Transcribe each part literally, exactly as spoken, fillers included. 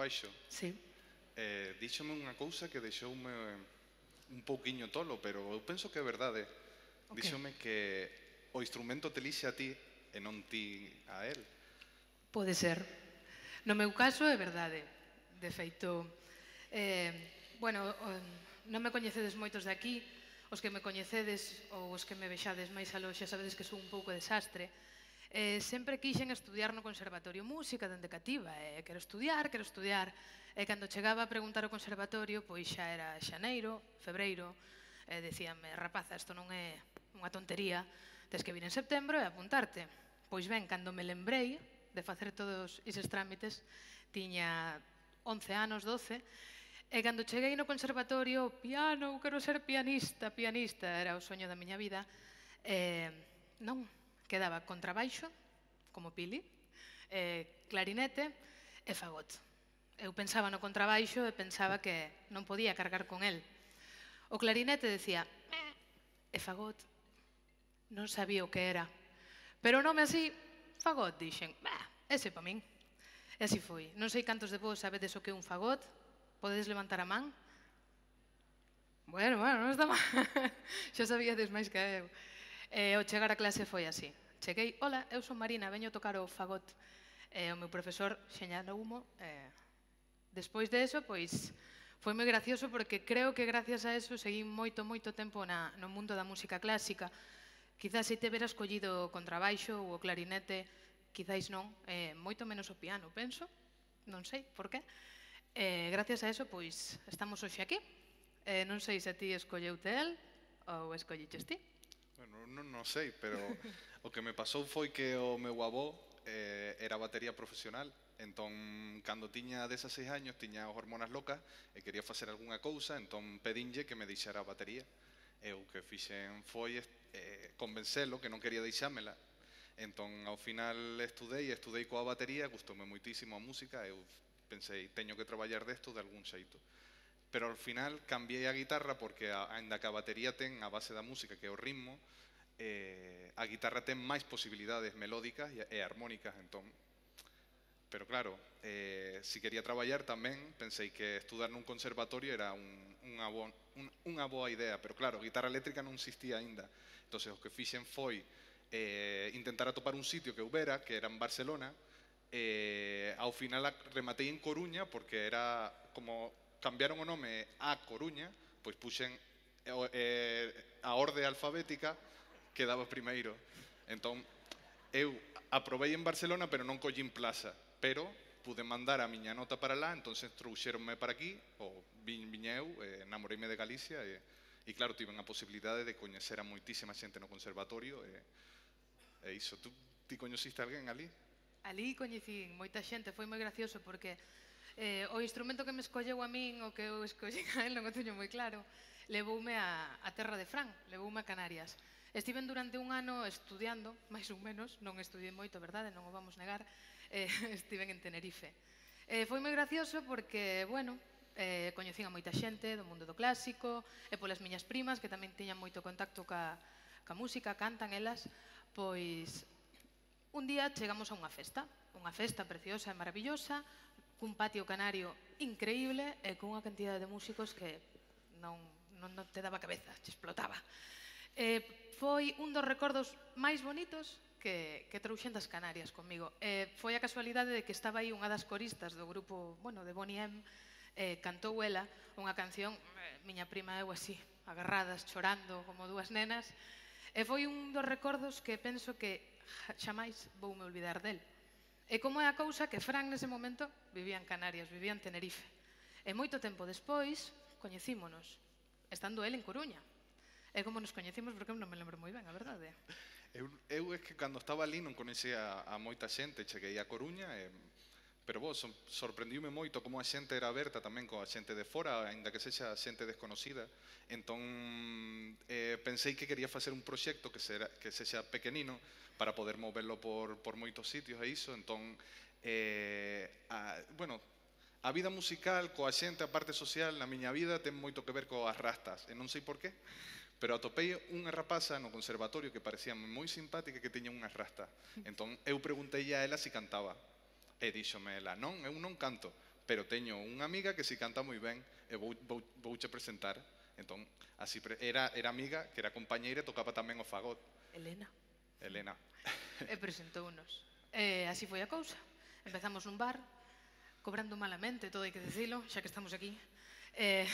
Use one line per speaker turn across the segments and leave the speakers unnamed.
contrabaixo,
Sí.
eh, díxome unha cousa que deixoume un pouquiño tolo, pero eu penso que é verdade.
Ok.
Díxome que o instrumento te lixe a ti e non ti a él.
Pode ser. No meu caso é verdade. De feito, eh, bueno, o- non me coñecedes moitos de aquí, os que me coñecedes ou os que me vexades máis aló xa sabedes que son un pouco desastre. Eh, sempre quixen estudiar no Conservatorio Música dende cativa, e quero estudiar, quero estudiar. E cando chegaba a preguntar ao conservatorio, pois xa era xaneiro, febreiro, e decíanme, rapaza, isto non é unha tontería, tes que vir en setembro e apuntarte. Pois ben, cando me lembrei de facer todos eses trámites, tiña once anos, doce, e cando cheguei no conservatorio, piano, eu quero ser pianista, pianista, era o soño da miña vida, e non, quedaba contrabaixo, como Pili, eh, clarinete e fagot. Eu pensaba no contrabaixo e pensaba que non podía cargar con el. O clarinete decía, "Eh", e fagot non sabía o que era. Pero o nome así, fagot, dixen, bah, ese pa min. E así foi. Non sei cantos de vos sabedes o que é un fagot. Podedes levantar a man? Bueno, bueno, non está mal. Xa sabíades máis que eu. E ao chegar a clase foi así. Cheguei, hola, eu son Marina, veño tocar o fagot. E o meu profesor xeñala humo. E despois de eso, pois, foi moi gracioso porque creo que gracias a eso seguí moito, moito tempo na, no mundo da música clásica. Quizás se te vera escollido o contrabaixo ou o clarinete, quizáis non, eh, moito menos o piano, penso. Non sei por qué. E gracias a eso, pois, estamos hoxe aquí. Eh, non sei se a ti escolleute el ou escolliches ti.
Bueno, non, non sei, pero o que me pasou foi que o meu avó eh, era batería profesional. Entón, cando tiña dezaseis años, tiña as hormonas locas e quería facer algunha cousa, entón pedinlle que me deixara a batería. E o que fixen foi eh, convencelo que non quería deixámela. Entón, ao final estudei, estudei coa batería, gustoume moitísimo a música, eu pensei, teño que traballar desto de algún xeito. Pero ao final cambiei a guitarra porque, aínda que a batería ten a base da música, que é o ritmo, eh, a guitarra ten máis posibilidades melódicas e armónicas, entón. Pero claro, eh, si quería traballar tamén, pensei que estudar nun conservatorio era un, unha, bo, un, unha boa idea, pero claro, a guitarra eléctrica non existía aínda. Entón, o que fixen foi eh, intentar atopar un sitio que houbera, que era en Barcelona, e ao final rematei en Coruña, porque era como cambiaron o nome a Coruña, pois puxen eh, a orde alfabética que daba primeiro. Entón, eu aprobei en Barcelona, pero non collín plaza, pero pude mandar a miña nota para lá, entonces trouxeronme para aquí, ou vin, viña eu, eh, namoreime de Galicia, e, e claro, tiven a posibilidade de coñecer a moitísima xente no conservatorio, e, e iso, tú ti coñeciste alguén ali?
Ali coñecín moita xente, foi moi gracioso porque eh, o instrumento que me escolleu a min, o que eu escollín a él, non o teño moi claro, levoume a, a terra de Fran, levoume a Canarias. Estiven durante un ano estudiando, máis ou menos, non estudiei moito, verdade, non o vamos negar, eh, estiven en Tenerife. Eh, foi moi gracioso porque, bueno, eh, coñecín a moita xente do mundo do clásico, e polas miñas primas, que tamén tiñan moito contacto ca, ca música, cantan elas, pois un día chegamos a unha festa, unha festa preciosa e maravillosa, cun patio canario increíble e cunha cantidad de músicos que non, non, non te daba cabeza, te explotaba. Eh, foi un dos recordos máis bonitos que, que trouxen das Canarias comigo. Eh, foi a casualidade de que estaba aí unha das coristas do grupo, bueno, de Bonnie M, eh, cantou ela unha canción, eh, miña prima e eu así, agarradas, chorando como dúas nenas, e foi un dos recordos que penso que xamais voume olvidar del. E como é a cousa que Fran nese momento vivía en Canarias, vivía en Tenerife. E moito tempo despois coñecímonos, estando el en Coruña. E como nos coñecimos, porque eu non me lembro moi ben, a verdade.
Eu, eu é que cando estaba ali non conhecía a, a moita xente, cheguei a Coruña, e, pero vos, sorprendiume moito como a xente era aberta tamén coa xente de fora, aínda que sexa xente desconocida. Entón, eh, pensei que quería facer un proxecto que, sera, que sexa pequenino para poder moverlo por, por moitos sitios e iso. Entón, eh, a, bueno, a vida musical coa xente, a parte social, na miña vida ten moito que ver coas rastas, e non sei por qué, pero atopei unha rapaza no conservatorio que parecía moi simpática, que tiña unha rasta. Entón, eu preguntei a ela se cantaba. E díxome ela, non, eu non canto, pero teño unha amiga que si canta moi ben e vou, vou, vouche presentar. Entón, así pre- era, era amiga, que era compañeira e tocaba tamén o fagot.
Elena.
Elena.
E presentounos. E así foi a cousa. Empezamos nun bar, cobrando malamente, todo hai que dicilo, xa que estamos aquí. E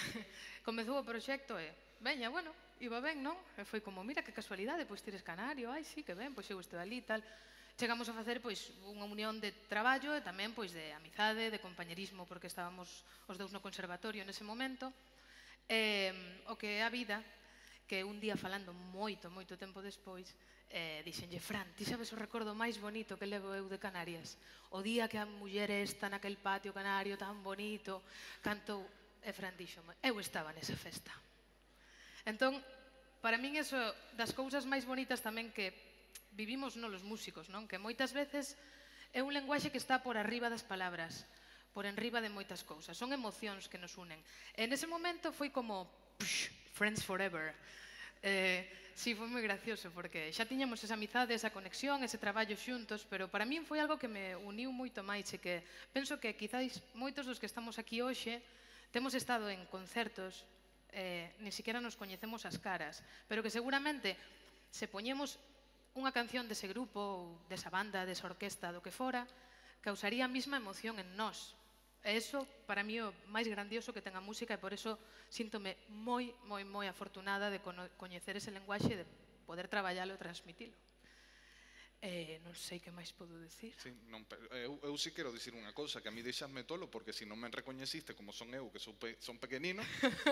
comezou o proxecto e, veña, bueno, iba ben, non? E foi como, mira que casualidade, pois tires canario, ai, sí, que ben, pois eu estou ali e tal. Chegamos a facer pois unha unión de traballo e tamén pois de amizade, de compañerismo, porque estábamos os dous no conservatorio nese momento. E o que é a vida, que un día falando moito, moito tempo despois, eh, dixenlle, Fran, ti sabes o recordo máis bonito que levo eu de Canarias? O día que a muller esta naquel patio canario tan bonito cantou, e Fran dixome, eu estaba nesa festa. Entón, para min eso das cousas máis bonitas tamén que vivimos non os músicos, non? Que moitas veces é un lenguaxe que está por arriba das palabras, por enriba de moitas cousas. Son emocións que nos unen. E nese momento foi como, psh, friends forever. Eh, sí, foi moi gracioso, porque xa tiñamos esa amizade, esa conexión, ese traballo xuntos, pero para min foi algo que me uniu moito máis e que penso que quizáis moitos dos que estamos aquí hoxe temos estado en concertos, eh, ni siquiera nos coñecemos as caras, pero que seguramente se poñemos unha canción dese grupo, ou desa banda, desa orquesta, do que fora, causaría a mesma emoción en nós. E iso, para mí, o máis grandioso que ten a música, e por eso síntome moi, moi, moi afortunada de coñecer ese lenguaxe e de poder traballalo e transmitilo. Eh, non sei que máis podo decir.
Sí, non, eu, eu sí quero dicir unha cousa, que a mí deixasme tolo, porque se si non me recoñeciste como son eu, que son, pe, son pequenino,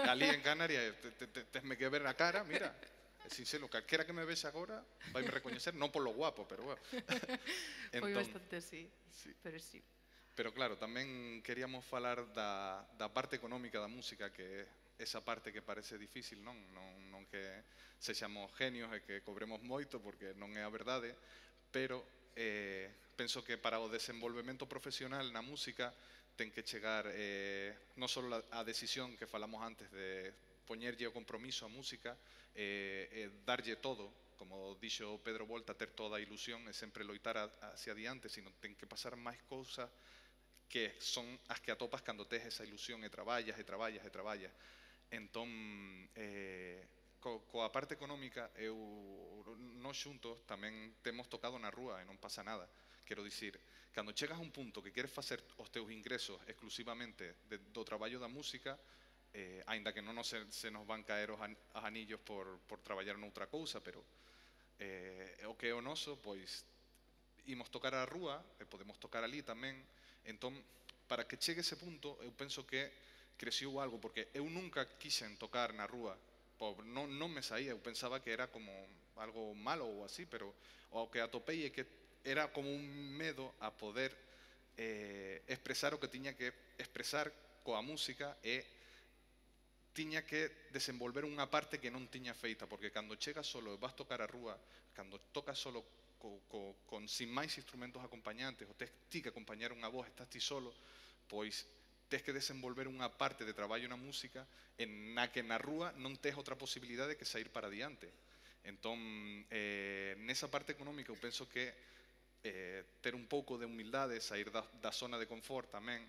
ali en Canarias, te, te, te, tesme que ver a cara, mira, é sincero, calquera que me vexe agora vai me recoñecer, non polo guapo, pero bueno.
Foi bastante así,
sí.
pero sí.
Pero claro, tamén queríamos falar da, da parte económica da música, que esa parte que parece difícil, non? Non, non que sexamos genios e que cobremos moito, porque non é a verdade, pero eh, penso que para o desenvolvemento profesional na música ten que chegar eh, non só a decisión que falamos antes de poñerlle o compromiso á música, eh, eh, darlle todo, como dixo Pedro Volta, ter toda a ilusión e sempre loitar a, hacia adiante, sino ten que pasar máis cousas que son as que atopas cando tes esa ilusión e traballas e traballas e traballas. Entón, eh, co, coa parte económica, eu, nós xuntos tamén temos tocado na rúa e non pasa nada. Quero dicir, cando chegas a un punto que queres facer os teus ingresos exclusivamente de, do traballo da música, eh, aínda que non nos se, se nos van caer os, an, os anillos por, por traballar noutra cousa, pero eh, o que é o noso, pois, imos tocar a rúa, e podemos tocar ali tamén. Entón, para que chegue ese punto, eu penso que creciou algo, porque eu nunca quixen tocar na rúa, non, non me saía, eu pensaba que era como algo malo ou así, pero o que atopei é que era como un medo a poder eh, expresar o que tiña que expresar coa música e tiña que desenvolver unha parte que non tiña feita, porque cando chegas solo e vas tocar a rúa, cando tocas solo co, co, con sin máis instrumentos acompañantes, ou tes ti que acompañar unha voz, estás ti solo, pois tes que desenvolver unha parte de traballo na música en na que na rúa non tes outra posibilidade que sair para diante. Entón, eh, nesa parte económica eu penso que eh, ter un pouco de humildade, sair da, da zona de confort tamén,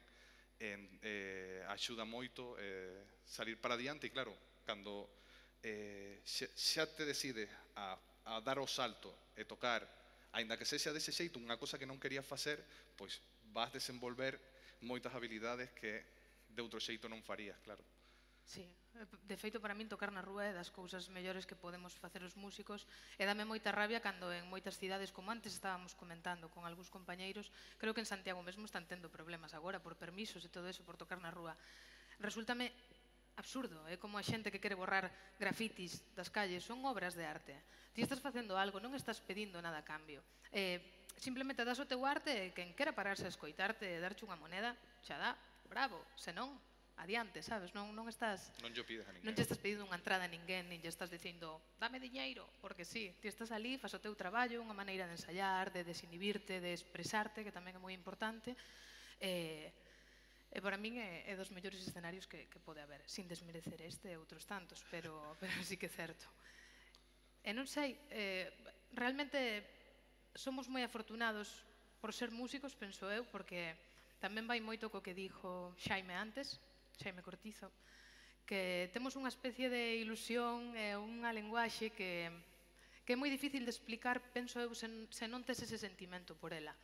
en, eh, axuda moito eh, salir para diante. E claro, cando eh, xa, xa te decides a, a dar o salto e tocar, aínda que sexa dese xeito unha cosa que non querías facer, pois vas desenvolver moitas habilidades que de outro xeito non farías, claro.
Sí, de feito para min tocar na rúa é das cousas mellores que podemos facer os músicos, e dame moita rabia cando en moitas cidades, como antes estábamos comentando con algúns compañeiros, creo que en Santiago mesmo están tendo problemas agora por permisos e todo eso por tocar na rúa. Resúltame absurdo, é como a xente que quere borrar grafitis das calles, son obras de arte. Ti estás facendo algo, non estás pedindo nada a cambio. Eh, simplemente das o teu arte e quen quera pararse a escoitarte e darche unha moneda, xa dá, bravo, senón, adiante, sabes? Non, non estás...
Non lle pides a ninguén.
Non lle estás pedindo unha entrada a ninguén, nin lle estás dicindo, dame diñeiro, porque sí, ti estás ali, faz o teu traballo, unha maneira de ensayar, de desinhibirte, de expresarte, que tamén é moi importante, e... E para min é, é dos mellores escenarios que, que pode haber, sin desmerecer este e outros tantos, pero, pero sí que é certo. E non sei, eh, realmente somos moi afortunados por ser músicos, penso eu, porque tamén vai moito co que dixo Xaime antes, Xaime Cortizo, que temos unha especie de ilusión e unha lenguaxe que, que é moi difícil de explicar, penso eu, se, se non tes ese sentimento por ela.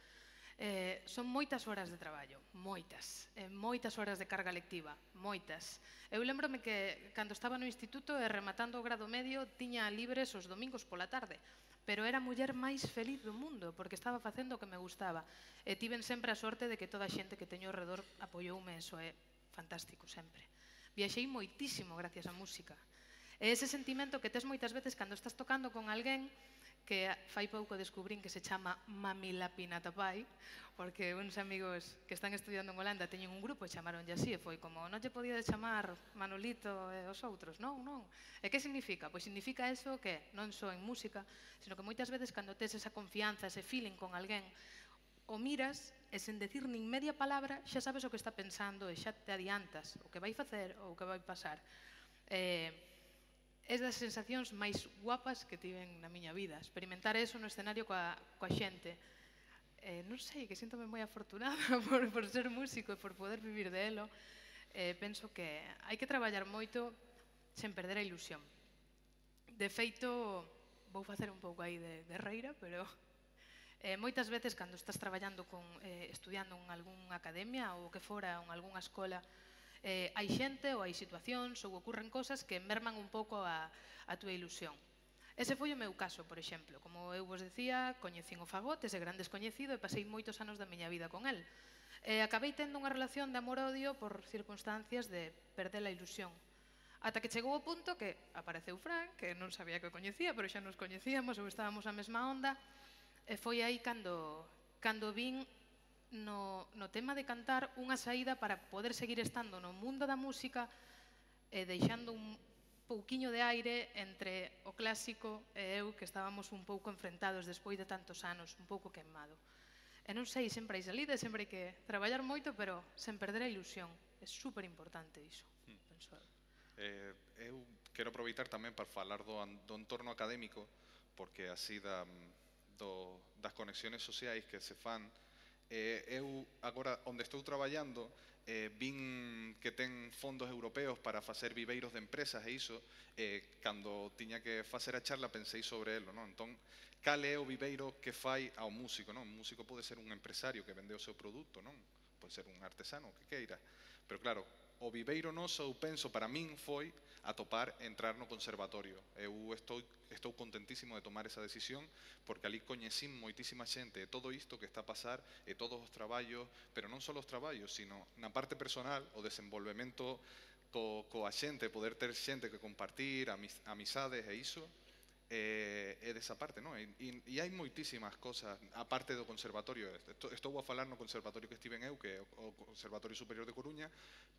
Eh, son moitas horas de traballo, moitas, eh, moitas horas de carga lectiva, moitas. Eu lembrome que cando estaba no instituto e rematando o grado medio tiña libres os domingos pola tarde, pero era a muller máis feliz do mundo porque estaba facendo o que me gustaba e tiven sempre a sorte de que toda a xente que teño ao redor apoioume, eso é fantástico sempre. Viaxei moitísimo gracias á música. E ese sentimento que tes moitas veces cando estás tocando con alguén que fai pouco descubrín que se chama Mamilapinatapai, porque uns amigos que están estudiando en Holanda teñen un grupo e chamaronlle así, e foi como, non lle podía chamar Manolito e os outros, non, non. E que significa? Pois significa eso que non só en música, sino que moitas veces cando tes esa confianza, ese feeling con alguén, o miras e sen decir nin media palabra xa sabes o que está pensando e xa te adiantas o que vai facer ou o que vai pasar. Eh, É das sensacións máis guapas que tiven na miña vida. Experimentar eso no escenario coa, coa xente. Eh, non sei, que síntome moi afortunada por, por ser músico e por poder vivir de elo. Eh, penso que hai que traballar moito sen perder a ilusión. De feito, vou facer un pouco aí de guerreira, pero eh, moitas veces cando estás traballando con, eh, estudiando en algunha academia ou que fora en algunha escola, Eh, hai xente ou hai situacións ou ocurren cosas que merman un pouco a, a túa ilusión. Ese foi o meu caso, por exemplo. Como eu vos decía, coñecín o fagot, ese gran descoñecido, e pasei moitos anos da miña vida con el. E acabei tendo unha relación de amor-odio por circunstancias de perder a ilusión. Ata que chegou o punto que apareceu Fran, que non sabía que o coñecía, pero xa nos coñecíamos ou estábamos na mesma onda, e foi aí cando, cando vin No, no tema de cantar unha saída para poder seguir estando no mundo da música e deixando un pouquiño de aire entre o clásico e eu, que estábamos un pouco enfrentados despois de tantos anos, un pouco queimado. E non sei, sempre hai salida, sempre hai que traballar moito, pero sen perder a ilusión. É super importante iso,
hmm.
penso eu.
Eh, eu quero aproveitar tamén para falar do, do entorno académico, porque así da, do, das conexiones sociais que se fan. Eh, eu agora onde estou traballando eh, vin que ten fondos europeos para facer viveiros de empresas e iso, eh, cando tiña que facer a charla pensei sobre elo, non? Entón, cal é o viveiro que fai ao músico, non? Un músico pode ser un empresario que vende o seu produto, non? Pode ser un artesano, que queira. Pero claro, o viveiro noso, eu penso, para min foi atopar entrar no conservatorio. Eu estou, estou contentísimo de tomar esa decisión porque ali coñecín moitísima xente e todo isto que está a pasar e todos os traballos, pero non só os traballos, sino na parte personal, o desenvolvemento co, coa xente, poder ter xente que compartir, amis, amizades e iso, é, é desa parte, non? E, e, e hai moitísimas cosas, aparte do conservatorio. Estou a falar no conservatorio que estive en eu, que é o Conservatorio Superior de Coruña,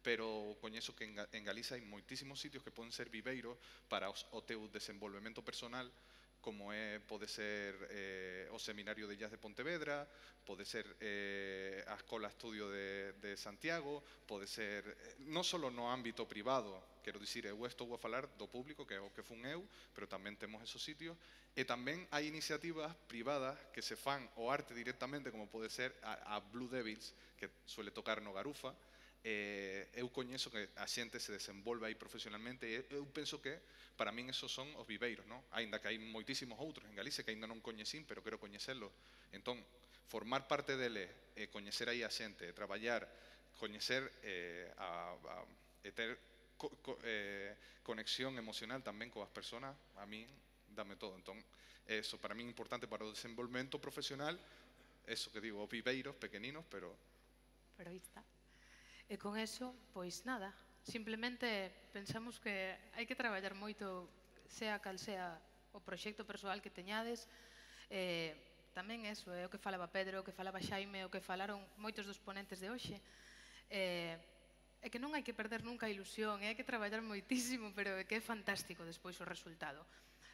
pero coñezo que en, en Galiza hai moitísimos sitios que poden ser viveiros para os, o teu desenvolvemento personal, como é, pode ser eh, o Seminario de Jazz de Pontevedra, pode ser eh, a Escola Estudio de, de Santiago, pode ser, eh, non só no ámbito privado, quero dicir, eu estou a falar do público, que é o que fun eu, pero tamén temos esos sitios, e tamén hai iniciativas privadas que se fan o arte directamente, como pode ser a, a Blue Devils, que suele tocar no Garufa. Eh, eu coñezo que a xente se desenvolve aí profesionalmente e eu penso que para min esos son os viveiros, non? Ainda que hai moitísimos outros en Galicia que ainda non coñecín, pero quero coñecelos. Entón, formar parte deles, e coñecer aí a xente, traballar, coñecer eh, a, a, e ter co, co, eh, conexión emocional tamén coas persoas, a min dame todo. Entón, eso para min é importante para o desenvolvemento profesional, eso que digo, os viveiros pequeninos, pero...
Pero aí está. E con eso, pois nada, simplemente pensamos que hai que traballar moito, sea cal sea o proxecto persoal que teñades, eh, tamén eso, é o que falaba Pedro, o que falaba Xaime, o que falaron moitos dos ponentes de hoxe, eh, é que non hai que perder nunca a ilusión, hai que traballar moitísimo, pero é que é fantástico despois o resultado.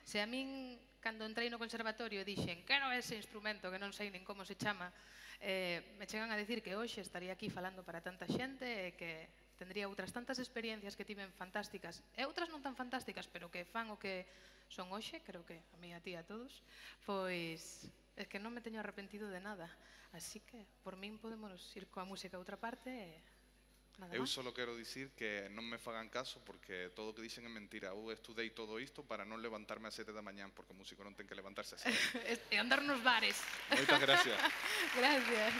Se a min, cando entrei no conservatorio, dixen, quero ese instrumento que non sei nin como se chama, eh, me chegan a decir que hoxe estaría aquí falando para tanta xente e que tendría outras tantas experiencias que tiven fantásticas e outras non tan fantásticas, pero que fan o que son hoxe, creo que a mí, a ti, a todos, pois é que non me teño arrepentido de nada. Así que, por min, podemos ir coa música a outra parte e nada
Eu
máis.
solo quero dicir que non me fagan caso porque todo o que dicen é mentira. Eu estudei todo isto para non levantarme a sete da mañán, porque o músico non ten que levantarse a sete.
E andar nos bares.
Moitas gracias.
Gracias.